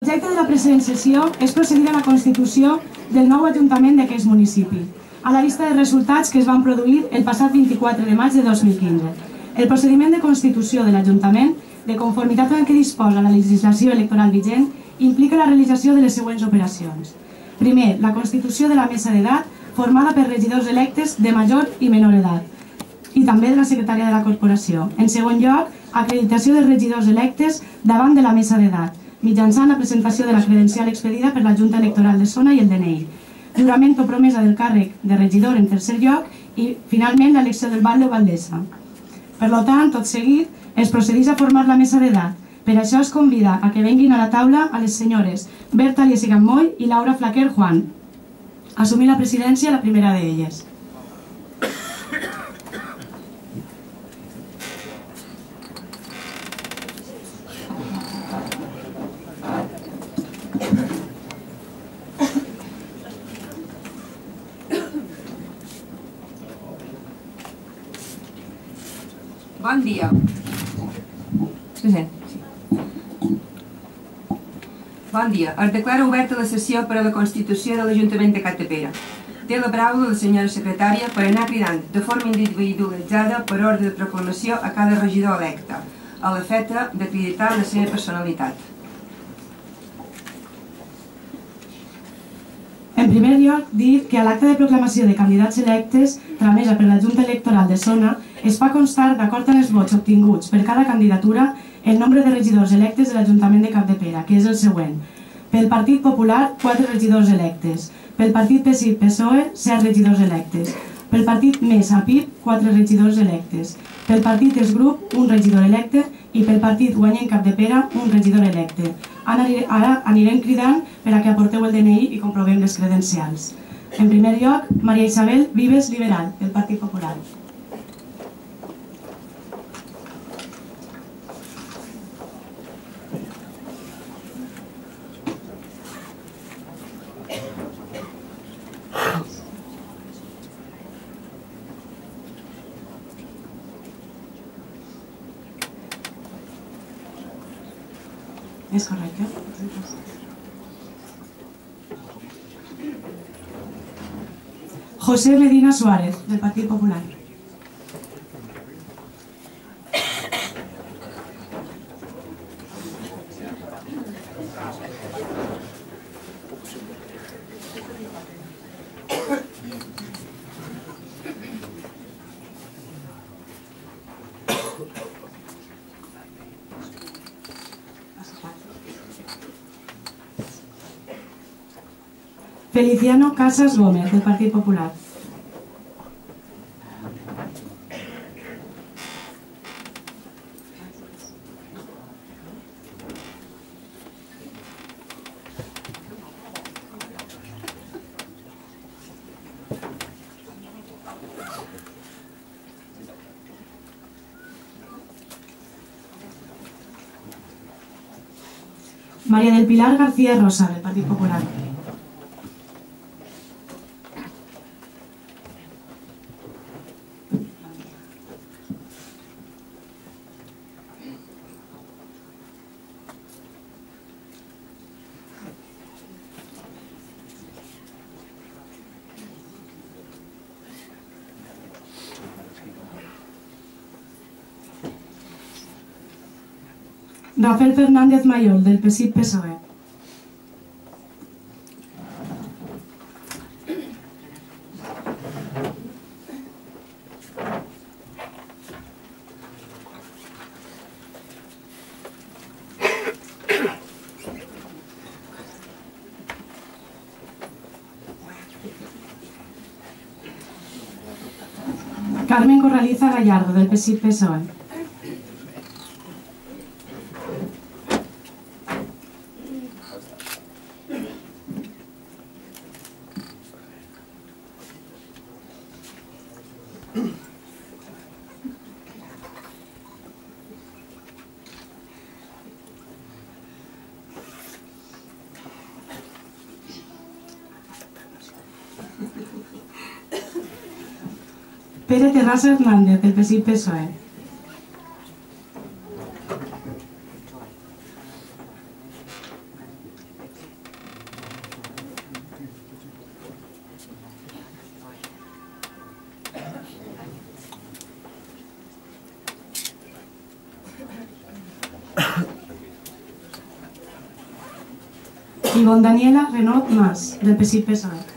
L'objecte de la present sessió és procedir a la constitució del nou Ajuntament d'aquest municipi, a la vista dels resultats que es van produir el passat 24 de maig de 2015. El procediment de constitució de l'Ajuntament, de conformitat amb el que disposa la legislació electoral vigent, implica la realització de les següents operacions. Primer, la constitució de la mesa d'edat, formada per regidors electes de major i menor edat, i també de la secretària de la corporació. En segon lloc, acreditació dels regidors electes davant de la mesa d'edat, mitjançant la presentació de la credencial expedida per la Junta Electoral de Zona i el DNI. Jurament o promesa del càrrec de regidor en tercer lloc i, finalment, l'elecció del batlle o batllessa. Per tant, tot seguit, es procedeix a formar la mesa d'edat. Per això es convida a que venguin a la taula a les senyores Berta Liesigan Moy i Laura Flaquer Juan. Assumir la presidència la primera d'elles. Bon dia. Bon dia. Es declara oberta la sessió per a la constitució de l'Ajuntament de Capdepera. Té la paraula la senyora secretària per anar cridant de forma individualitzada per ordre de proclamació a cada regidor electe, a l'efecte d'acreditar la seva personalitat. En primer lloc, dir que a l'acte de proclamació de candidats electes tramesa per la Junta Electoral de Zona es fa constar, d'acord amb els vots obtinguts per cada candidatura, el nombre de regidors electes de l'Ajuntament de Capdepera, que és el següent. Pel Partit Popular, 4 regidors electes. Pel Partit PSI-PSOE, 7 regidors electes. Pel Partit MES-APIP, 4 regidors electes. Pel Partit ESGRUP, 1 regidor electe. I pel Partit Guanyem Capdepera, 1 regidor electe. Ara anirem cridant per a que aporteu el DNI i comprovem les credencials. En primer lloc, Maria Isabel Vives Liberal, del Partit Popular. És correcte? José Medina Suárez, del Partit Popular. Feliciano Casas Gómez, del Partit Popular. María del Pilar García Rosa, del Partit Popular. Rafael Fernández Mayol, del PSI-PSOE. Carmen Corraliza Gallardo, del PSI-PSOE. Pere Terrassa Hernández, del PSI-PSOE. Ivonne Daniela Renaud Mas, del PSI-PSOE.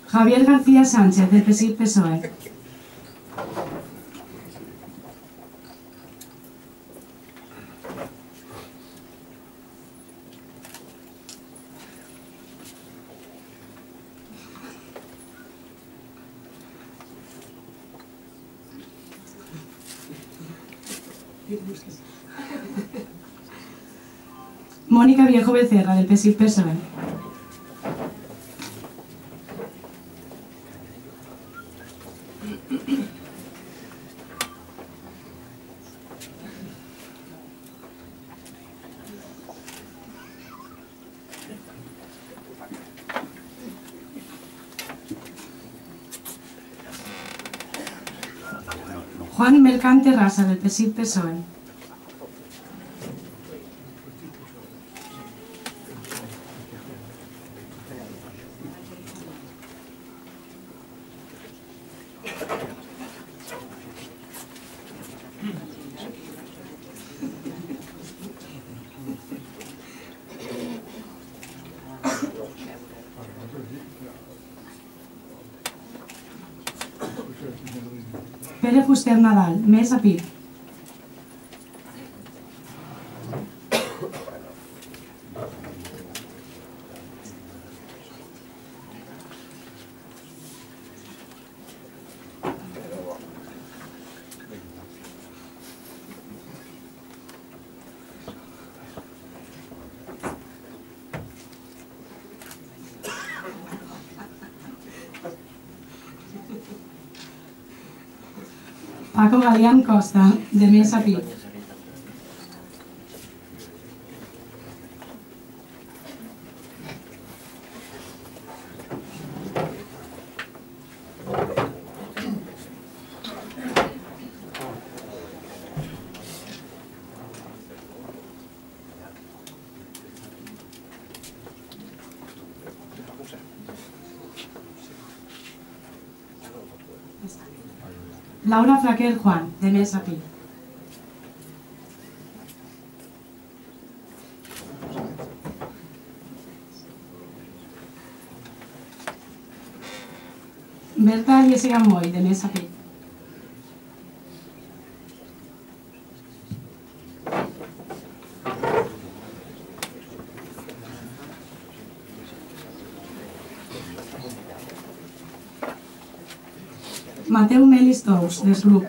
Javier García Sánchez, del PSI-PSOE. Mónica Viejo Becerra, del PSI-PSOE. Juan Mercante Rasa, del PSI-PSOE. Pere Fuster Nadal, més a PIB. Paco Galián Costa, de més a PIB. Laura Flaquer Juan, de més a PIB. Berta Jessica Moy, de més a PIB. Mateu Melis Tous, del grup.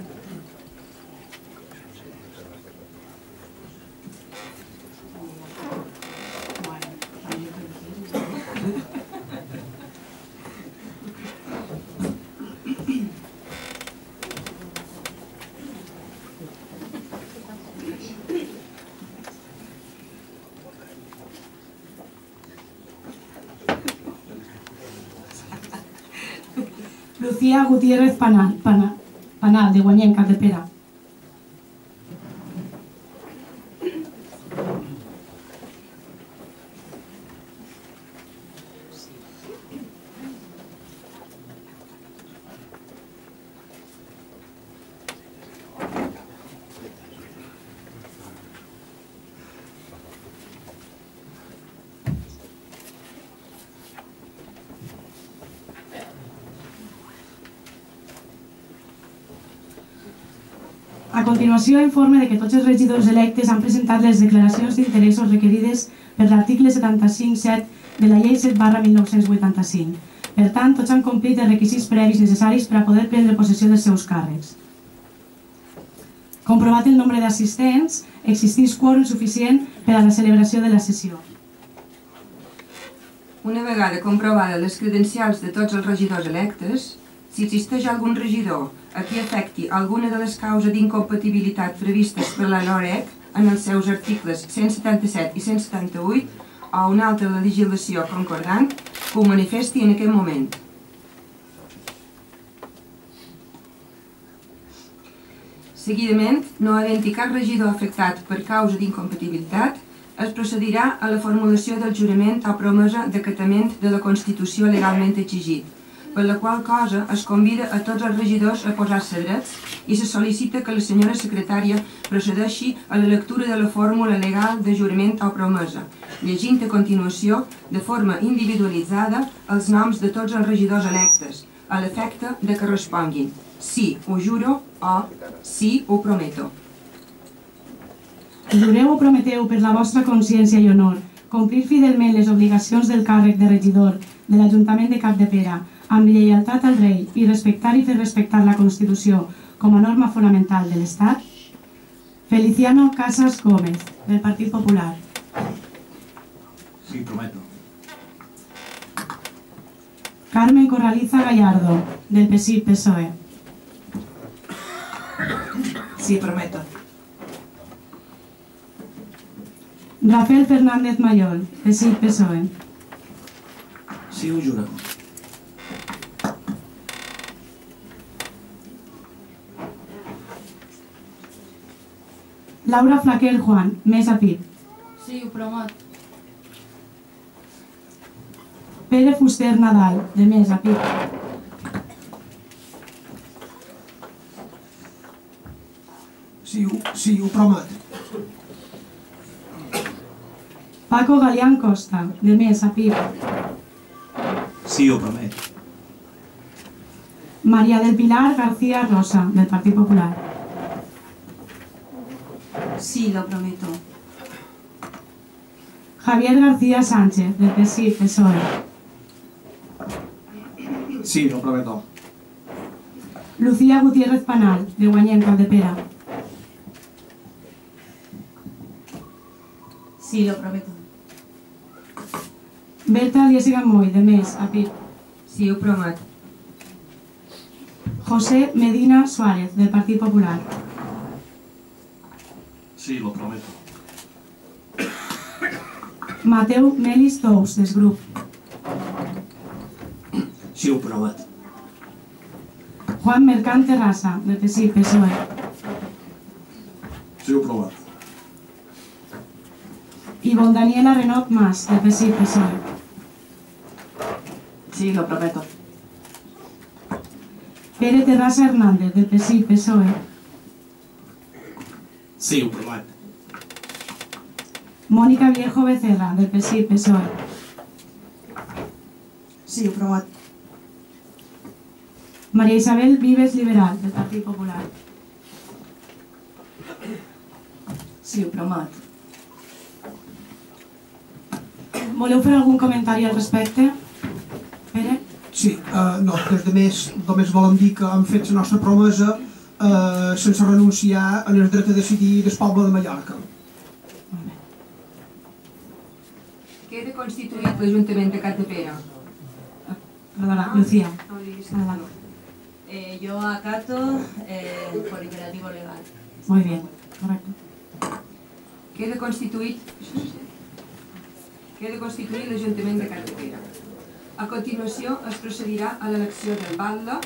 Lucía Gutiérrez Panal, de Guanyem, Capdepera. A continuació, informe de que tots els regidors electes han presentat les declaracions d'interessos requerides per l'article 75.7 de la Llei 7/1985. Per tant, tots han complit els requisits previs necessaris per a poder prendre possessió dels seus càrrecs. Comprovat el nombre d'assistents, existeix quòrum suficient per a la celebració de la sessió. Una vegada comprovades les credencials de tots els regidors electes, si existeix algun regidor a qui afecti alguna de les causes d'incompatibilitat previstes per la LOREC en els seus articles 177 i 178 o una altra legislació concordant, que ho manifesti en aquest moment. Seguidament, no havent-hi cap regidor afectat per causa d'incompatibilitat, es procedirà a la formulació del jurament o promesa d'acatament de la Constitució legalment exigit, per la qual cosa es convida a tots els regidors a posar-se drets i se sol·licita que la senyora secretària procedeixi a la lectura de la fórmula legal de jurament o promesa, llegint a continuació, de forma individualitzada, els noms de tots els regidors electes, a l'efecte de que responguin sí, ho juro o sí, ho prometo. Jureu o prometeu per la vostra consciència i honor complir fidelment les obligacions del càrrec de regidor de l'Ajuntament de Capdepera amb lleialtat al rei i respectar i fer respectar la Constitució com a norma fonamental de l'Estat? Feliciano Casas Gómez, del Partit Popular. Sí, prometo. Carmen Corraliza Gallardo, del PSIC-PSOE. Sí, prometo. Rafael Fernández Mayol, PSIC-PSOE. Sí, ho juro. Laura Flaquer Juan, Mesa PIB. Sí, ho promet. Pere Fuster Nadal, de Mesa PIB. Sí, ho promet. Paco Galián Costa, de Mesa PIB. Sí, ho prometo. María del Pilar García Rosa, del Partit Popular. Sí, lo prometo. Javier García Sánchez, del PSIC-PSOE. Sí, lo prometo. Lucía Gutiérrez Panal, de Guanyem Capdepera. Sí, lo prometo. Berta Aliésiga Moy, de Mes, a PIB. Sí, ho promet. José Medina Suárez, del Partit Popular. Sí, lo prometo. Mateu Melis Tous, del Grup. Sí, ho promet. Juan Mercant Terrassa, del PSIC-PSOE. Sí, ho promet. Ivonne Daniela Renot Mas, del PSIC-PSOE. Sí, lo prometo. Pere Terrassa Hernández, del PSIC-PSOE. Sí, ho promet. Mónica Viejo Becerra, del PSIC-PSOE. Sí, ho promet. María Isabel Vives Liberal, del Partit Popular. Sí, ho promet. Voleu fer algun comentari al respecte? Pere? Sí, no, des de més només volem dir que hem fet la nostra promesa sense renunciar en el dret a decidir del poble de Mallorca. Queda constituït l'Ajuntament de Capdepera. Perdona, Lucía. Adelante. Yo acato por imperativo legal. Muy bien, correcto. Queda constituït l'Ajuntament de Capdepera. A continuació es procedirà a l'elecció del batlle